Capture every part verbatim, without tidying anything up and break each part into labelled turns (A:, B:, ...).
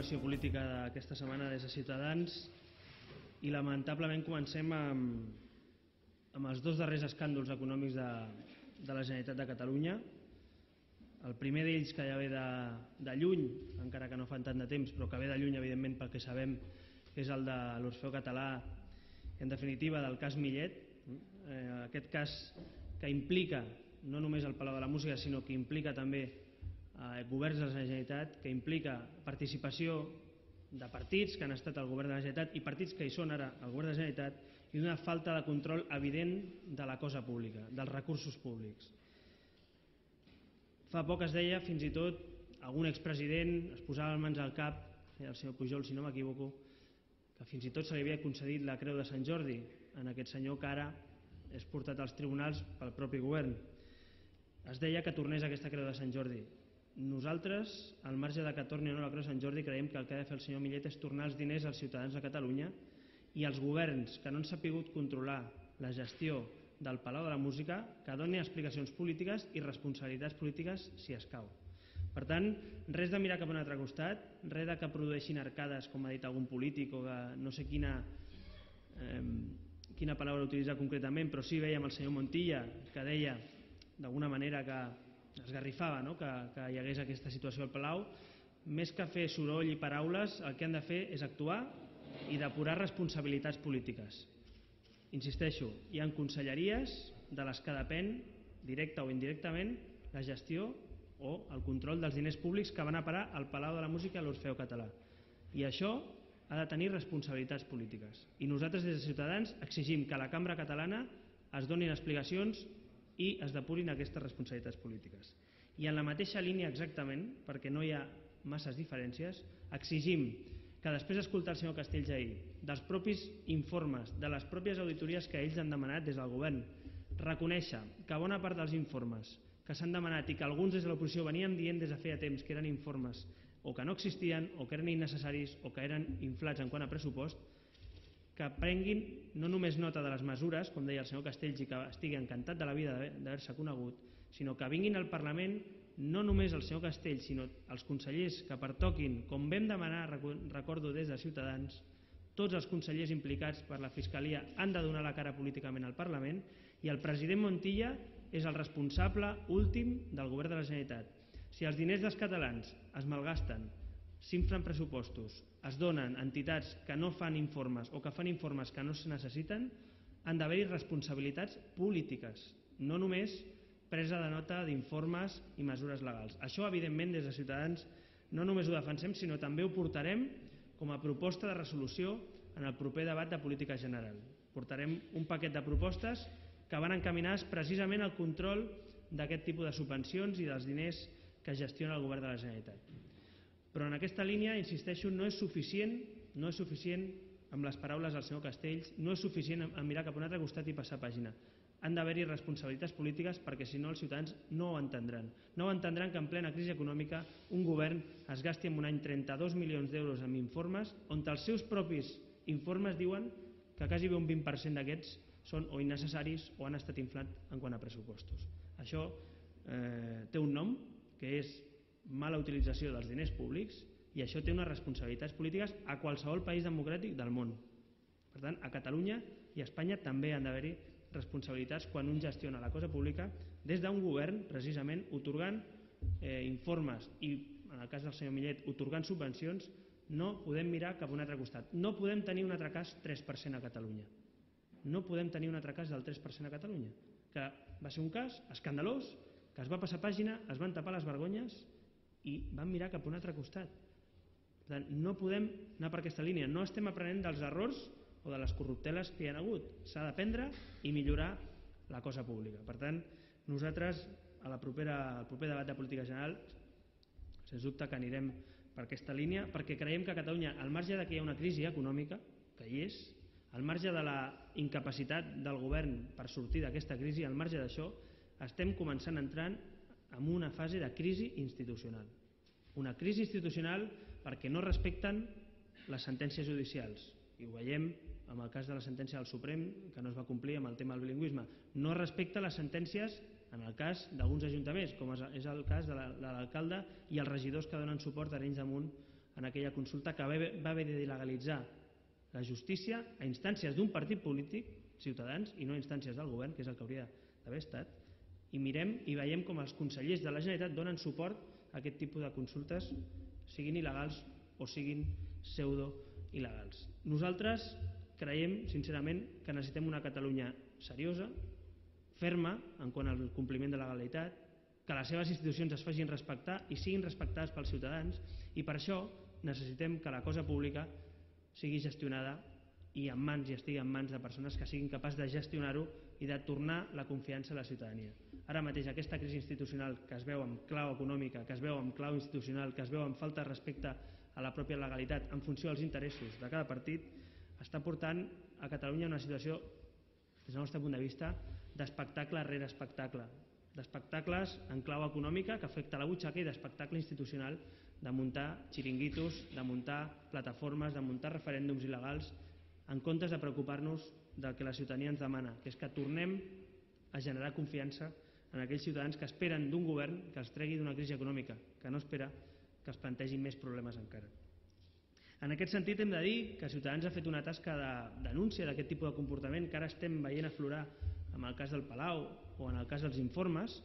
A: valoració política d'aquesta setmana des de Ciutadans i lamentablement comencem amb, amb els dos darrers escàndols econòmics de, de la Generalitat de Catalunya. El primer d'ells, que ja ve de, de lluny, encara que no fan tant de temps, però que ve de lluny evidentment pel que sabem, és el de l'Orfeó Català, en definitiva del cas Millet. Eh, aquest cas que implica no només el Palau de la Música, sinó que implica també eh, governs de la Generalitat, que implica participació de partits que han estat al govern de la Generalitat i partits que hi són ara al govern de la Generalitat, i una falta de control evident de la cosa pública, dels recursos públics. Fa poc es deia, fins i tot, algun expresident es posava les mans al cap, el senyor Pujol, si no m'equivoco, que fins i tot se li havia concedit la Creu de Sant Jordi en aquest senyor que ara és portat als tribunals pel propi govern. Es deia que tornés aquesta Creu de Sant Jordi. Nosaltres, al marge de que torni o no la Creu de Sant Jordi, creiem que el que ha de fer el senyor Millet és tornar els diners als ciutadans de Catalunya, i els governs que no han sabut controlar la gestió del Palau de la Música, que donin explicacions polítiques i responsabilitats polítiques si escau. Per tant, res de mirar cap a un altre costat, res de que produeixin arcades, com ha dit algun polític, o que no sé quina, eh, quina paraula utilitzar concretament, però sí veiem el senyor Montilla, que deia d'alguna manera que esgarrifava, no? que, que hi hagués aquesta situació al Palau. Més que fer soroll i paraules, el que han de fer és actuar i depurar responsabilitats polítiques. Insisteixo, hi ha conselleries de les que depèn, directa o indirectament, la gestió o el control dels diners públics que van a parar al Palau de la Música i a l'Orfeó Català. I això ha de tenir responsabilitats polítiques. I nosaltres des de Ciutadans exigim que a la cambra catalana es donin explicacions i es depurin aquestes responsabilitats polítiques. I en la mateixa línia exactament, perquè no hi ha masses diferències, exigim que després d'escoltar el senyor Castells ahir, dels propis informes, de les pròpies auditories que ells han demanat des del govern, reconèixer que bona part dels informes que s'han demanat i que alguns des de l'oposició venien dient des de feia temps que eren informes o que no existien o que eren innecessaris o que eren inflats en quant a pressupost, que prenguin no només nota de les mesures, com deia el senyor Castells, i que estigui encantat de la vida d'haver-se conegut, sinó que vinguin al Parlament no només el senyor Castells, sinó els consellers que pertoquin, com vam demanar, recordo des de Ciutadans, tots els consellers implicats per la Fiscalia han de donar la cara políticament al Parlament, i el president Montilla és el responsable últim del govern de la Generalitat. Si els diners dels catalans es malgasten, s'inflen pressupostos, es donen a entitats que no fan informes o que fan informes que no es necessiten, han d'haver-hi responsabilitats polítiques, no només presa de nota d'informes i mesures legals. Això, evidentment, des de Ciutadans no només ho defensem, sinó també ho portarem com a proposta de resolució en el proper debat de política general. Portarem un paquet de propostes que van encaminades precisament al control d'aquest tipus de subvencions i dels diners que gestiona el govern de la Generalitat. Però en aquesta línia, insisteixo, no és suficient, no és suficient amb les paraules del senyor Castells, no és suficient en mirar cap a un altre costat i passar pàgina. Han d'haver-hi responsabilitats polítiques, perquè si no els ciutadans no ho entendran. No ho entendran que en plena crisi econòmica un govern es gasti en un any trenta-dos milions d'euros en informes, on els seus propis informes diuen que quasi un vint per cent d'aquests són o innecessaris o han estat inflats en quant a pressupostos. Això eh, té un nom, que és mala utilització dels diners públics, i això té unes responsabilitats polítiques a qualsevol país democràtic del món. Per tant, a Catalunya i a Espanya també han d'haver-hi responsabilitats quan un gestiona la cosa pública des d'un govern, precisament, atorgant eh, informes i, en el cas del senyor Millet, atorgant subvencions. No podem mirar cap a un altre costat. No podem tenir un altre cas tres per cent a Catalunya. No podem tenir un altre cas del tres per cent a Catalunya, que va ser un cas escandalós, que es va passar pàgina, es van tapar les vergonyes i van mirar cap a un altre costat. Per tant, no podem anar per aquesta línia. No estem aprenent dels errors o de les corrupteles que hi ha hagut. S'ha d'aprendre i millorar la cosa pública. Per tant, nosaltres a la propera, al proper debat de política general sens dubte que anirem per aquesta línia, perquè creiem que a Catalunya, al marge de que hi ha una crisi econòmica, que hi és, al marge de la incapacitat del govern per sortir d'aquesta crisi, al marge d'això, estem començant a entrar en una fase de crisi institucional. Una crisi institucional perquè no respecten les sentències judicials. I ho veiem amb el cas de la sentència del Suprem, que no es va complir amb el tema del bilingüisme. No respecta les sentències en el cas d'alguns ajuntaments, com és el cas de l'alcalde i els regidors que donen suport a Arenys de Munt en aquella consulta que va haver d'il·legalitzar la justícia a instàncies d'un partit polític, Ciutadans, i no a instàncies del govern, que és el que hauria d'haver estat, i mirem i veiem com els consellers de la Generalitat donen suport a aquest tipus de consultes, siguin il·legals o siguin pseudo-il·legals. Nosaltres creiem, sincerament, que necessitem una Catalunya seriosa, ferma en quant al compliment de la legalitat, que les seves institucions es facin respectar i siguin respectades pels ciutadans, i per això necessitem que la cosa pública sigui gestionada i en mans i estigui en mans de persones que siguin capaces de gestionar-ho i de tornar la confiança a la ciutadania. Ara mateix aquesta crisi institucional que es veu amb clau econòmica, que es veu amb clau institucional, que es veu amb falta de respecte a la pròpia legalitat en funció dels interessos de cada partit, està portant a Catalunya una situació, des del nostre punt de vista, d'espectacle rere espectacle, d'espectacles en clau econòmica que afecta la butxaca i d'espectacle institucional de muntar xiringuitos, de muntar plataformes, de muntar referèndums il·legals en comptes de preocupar-nos del que la ciutadania ens demana, que és que tornem a generar confiança en aquells ciutadans que esperen d'un govern que els tregui d'una crisi econòmica, que no espera que els plantegin més problemes encara. En aquest sentit hem de dir que Ciutadans ha fet una tasca de denúncia d'aquest tipus de comportament que ara estem veient aflorar en el cas del Palau o en el cas dels informes.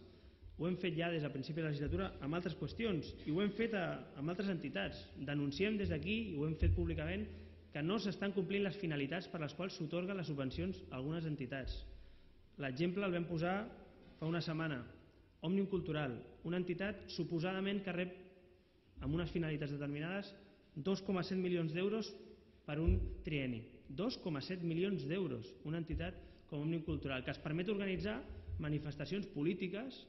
A: Ho hem fet ja des del principi de la legislatura amb altres qüestions i ho hem fet amb altres entitats. Denunciem des d'aquí, i ho hem fet públicament, que no s'estan complint les finalitats per les quals s'atorguen les subvencions a algunes entitats. L'exemple el vam posar fa una setmana. Òmnium Cultural, una entitat suposadament que rep amb unes finalitats determinades dos coma set milions d'euros per un trienni. dos coma set milions d'euros, una entitat com Òmnium Cultural, que es permet organitzar manifestacions polítiques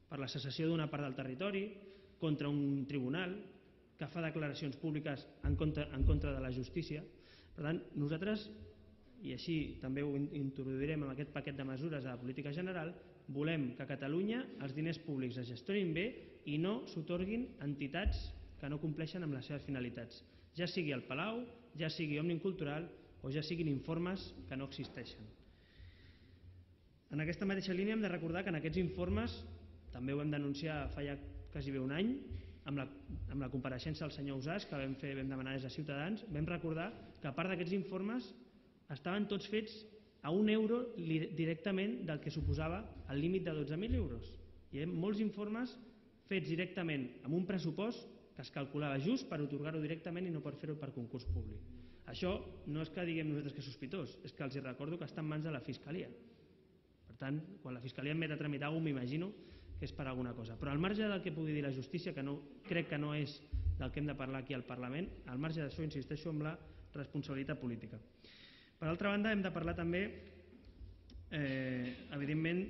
A: per la secessió d'una part del territori, contra un tribunal, que fa declaracions públiques en contra, en contra de la justícia. Per tant, nosaltres, i així també ho introduirem en aquest paquet de mesures de la política general, volem que a Catalunya els diners públics es gestionin bé i no s'atorguin a entitats que no compleixen amb les seves finalitats, ja sigui el Palau, ja sigui Òmnium Cultural o ja siguin informes que no existeixen. En aquesta mateixa línia hem de recordar que en aquests informes, també ho vam denunciar fa ja quasi bé un any, amb la, amb la compareixença del senyor Ausàs, que vam, fer, vam demanar des de Ciutadans, vam recordar que a part d'aquests informes estaven tots fets a un euro directament del que suposava el límit de dotze mil euros. Hi ha molts informes fets directament amb un pressupost que es calculava just per atorgar-ho directament i no per fer-ho per concurs públic. Això no és que diguem nosaltres que és sospitós, és que els recordo que està en mans de la Fiscalia. Per tant, quan la Fiscalia em met a tramitar alguna cosa, m'imagino que és per alguna cosa. Però al marge del que pugui dir la justícia, que no, crec que no és del que hem de parlar aquí al Parlament, al marge d'això insisteixo en la responsabilitat política. Per altra banda, hem de parlar també, eh, evidentment,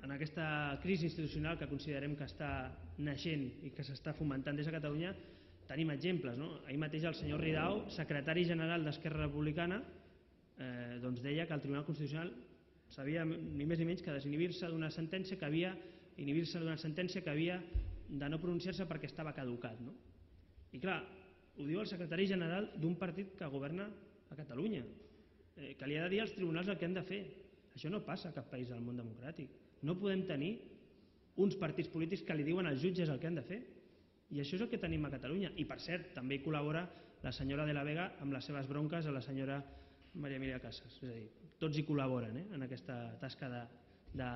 A: en aquesta crisi institucional que considerem que està naixent i que s'està fomentant des de Catalunya, tenim exemples. No? Ahir mateix el senyor Ridao, secretari general d'Esquerra Republicana, eh, doncs deia que el Tribunal Constitucional sabia ni més ni menys que desinhibir-se d'una sentència que havia inhibir-se d'una sentència que havia de no pronunciar-se perquè estava caducat. No? I clar, ho diu el secretari general d'un partit que governa a Catalunya, eh, que li ha de dir als tribunals el que han de fer. Això no passa a cap país del món democràtic. No podem tenir uns partits polítics que li diuen als jutges el que han de fer. I això és el que tenim a Catalunya. I per cert, també hi col·labora la senyora de la Vega amb les seves bronques a la senyora Maria Emilia Casas. És a dir, tots hi col·laboren eh, en aquesta tasca de, de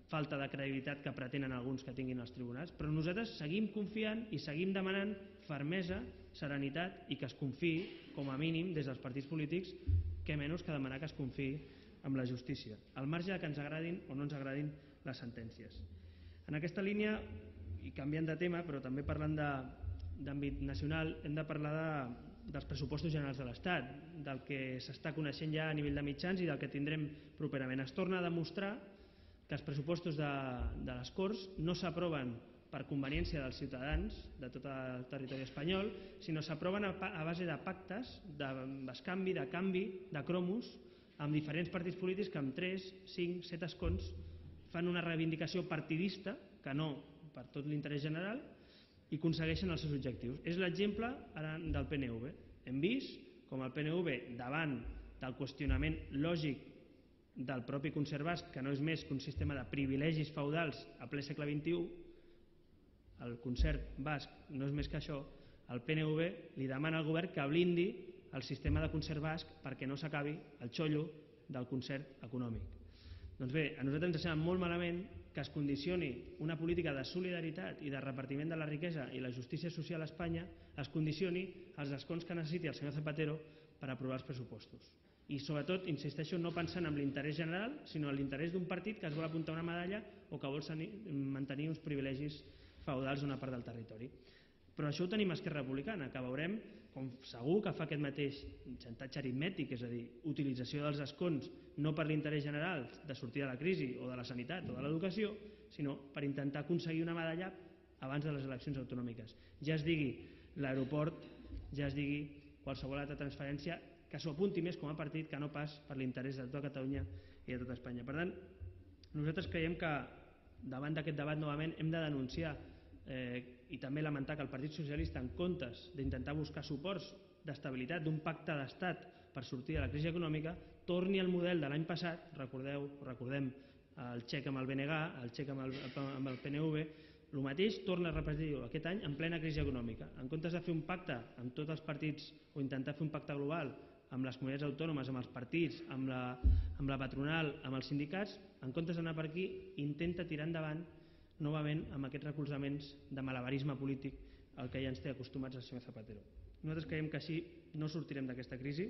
A: falta de credibilitat que pretenen alguns que tinguin els tribunals, però nosaltres seguim confiant i seguim demanant fermesa, serenitat i que es confiï, com a mínim, des dels partits polítics, què menys que demanar que es confiï amb la justícia, al marge que ens agradin o no ens agradin les sentències. En aquesta línia, i canviant de tema, però també parlant d'àmbit nacional, hem de parlar de, dels pressupostos generals de l'Estat, del que s'està coneixent ja a nivell de mitjans i del que tindrem properament. Es torna a demostrar que els pressupostos de, de les Corts no s'aproven per conveniència dels ciutadans de tot el territori espanyol, sinó s'aproven a, a base de pactes, de bescanvi, de canvi, de cromos, amb diferents partits polítics que amb tres, cinc, set escons fan una reivindicació partidista, que no per tot l'interès general, i aconsegueixen els seus objectius. És l'exemple ara del P N V. Hem vist com el P N V, davant del qüestionament lògic del propi concert basc, que no és més que un sistema de privilegis feudals a ple segle vint-i-u, el concert basc no és més que això, el P N V li demana al govern que blindi el sistema de concert basc perquè no s'acabi el xollo del concert econòmic. Doncs bé, a nosaltres ens sembla molt malament que es condicioni una política de solidaritat i de repartiment de la riquesa i la justícia social a Espanya, es condicioni als escons que necessiti el senyor Zapatero per aprovar els pressupostos. I sobretot, insisteixo, no pensant en l'interès general, sinó en l'interès d'un partit que es vol apuntar una medalla o que vol mantenir uns privilegis feudals d'una part del territori. Però això ho tenim a Esquerra Republicana, que veurem com segur que fa aquest mateix xantatge aritmètic, és a dir, utilització dels escons no per l'interès general de sortir de la crisi o de la sanitat o de l'educació, sinó per intentar aconseguir una medalla abans de les eleccions autonòmiques. Ja es digui l'aeroport, ja es digui qualsevol altra transferència que s'ho apunti més com a partit que no pas per l'interès de tota Catalunya i de tota Espanya. Per tant, nosaltres creiem que davant d'aquest debat novament hem de denunciar eh, i també lamentar que el Partit Socialista, en comptes d'intentar buscar suports d'estabilitat d'un pacte d'estat per sortir de la crisi econòmica, torni al model de l'any passat, recordeu, recordem el xec amb el B N G, el xec amb el, amb el P N V, el mateix torna a repetir aquest any en plena crisi econòmica. En comptes de fer un pacte amb tots els partits o intentar fer un pacte global amb les comunitats autònomes, amb els partits, amb la, amb la patronal, amb els sindicats, en comptes d'anar per aquí, intenta tirar endavant novament amb aquests recolzaments de malabarisme polític al que ja ens té acostumats el senyor Zapatero. Nosaltres creiem que així no sortirem d'aquesta crisi,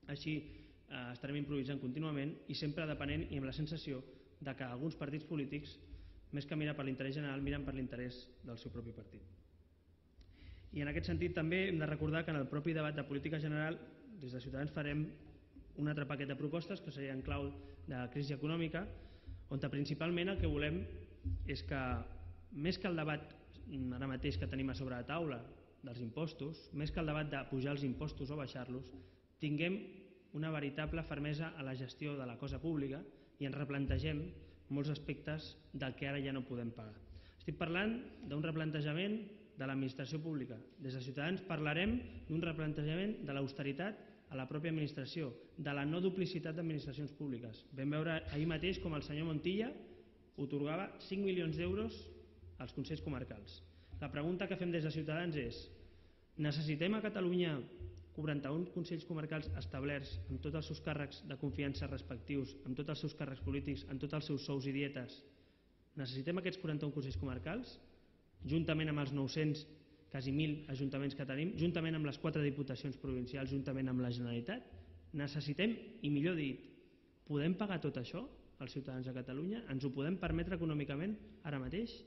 A: així eh, estarem improvisant contínuament i sempre depenent i amb la sensació de que alguns partits polítics, més que mirar per l'interès general, miren per l'interès del seu propi partit. I en aquest sentit també hem de recordar que en el propi debat de política general des de Ciutadans farem un altre paquet de propostes que seria en clau de crisi econòmica, on principalment el que volem és que més que el debat ara mateix que tenim a sobre la taula dels impostos, més que el debat de pujar els impostos o baixar-los, tinguem una veritable fermesa a la gestió de la cosa pública i ens replantegem molts aspectes del que ara ja no podem pagar. Estic parlant d'un replantejament de l'administració pública. Des de Ciutadans parlarem d'un replantejament de l'austeritat a la pròpia administració, de la no duplicitat d'administracions públiques. Vam veure ahir mateix com el senyor Montilla atorgava cinc milions d'euros als consells comarcals. La pregunta que fem des de Ciutadans és: necessitem a Catalunya quaranta-un consells comarcals establerts amb tots els seus càrrecs de confiança respectius, amb tots els seus càrrecs polítics, amb tots els seus sous i dietes? Necessitem aquests quaranta-un consells comarcals? Juntament amb els nou-cents, quasi mil ajuntaments que tenim, juntament amb les quatre diputacions provincials, juntament amb la Generalitat? Necessitem, i millor dit, podem pagar tot això als ciutadans de Catalunya? Ens ho podem permetre econòmicament ara mateix?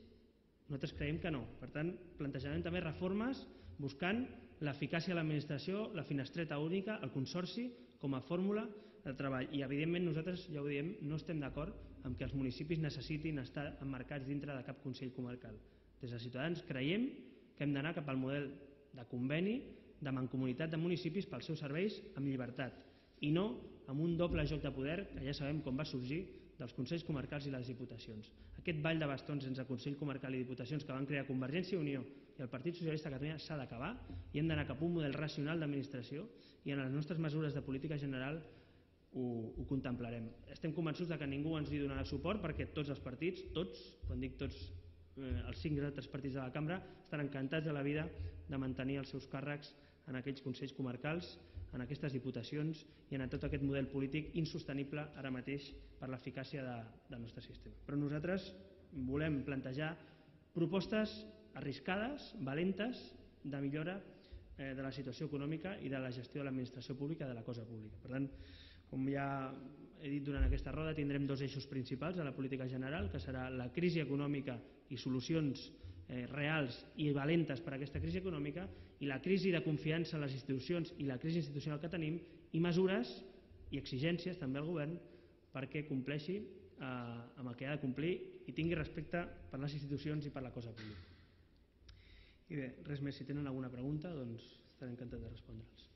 A: Nosaltres creiem que no. Per tant, plantejarem també reformes buscant l'eficàcia de l'administració, la finestreta única, el consorci com a fórmula de treball. I evidentment nosaltres, ja ho diem, no estem d'acord amb que els municipis necessitin estar emmarcats dintre de cap consell comarcal. Des de Ciutadans creiem que hem d'anar cap al model de conveni, de mancomunitat de municipis pels seus serveis amb llibertat i no amb un doble joc de poder que ja sabem com va sorgir dels consells comarcals i les diputacions. Aquest ball de bastons entre Consell Comarcal i Diputacions que van crear Convergència i Unió i el Partit Socialista de Catalunya s'ha d'acabar i hem d'anar cap a un model racional d'administració i en les nostres mesures de política general ho, ho contemplarem. Estem convençuts que ningú ens hi donarà suport perquè tots els partits, tots, quan dic tots, eh, els cinc altres partits de la cambra, estan encantats de la vida de mantenir els seus càrrecs en aquells consells comarcals, en aquestes diputacions i en tot aquest model polític insostenible ara mateix per l'eficàcia de, del nostre sistema. Però nosaltres volem plantejar propostes arriscades, valentes, de millora eh, de la situació econòmica i de la gestió de l'administració pública, de la cosa pública. Per tant, com ja he dit durant aquesta roda, tindrem dos eixos principals a la política general, que serà la crisi econòmica i solucions eh, reals i valentes per a aquesta crisi econòmica, i la crisi de confiança en les institucions i la crisi institucional que tenim, i mesures i exigències també al govern perquè compleixi eh, amb el que ha de complir i tingui respecte per les institucions i per la cosa pública. I bé, res més. Si tenen alguna pregunta, doncs estaré encantat de respondre'ls.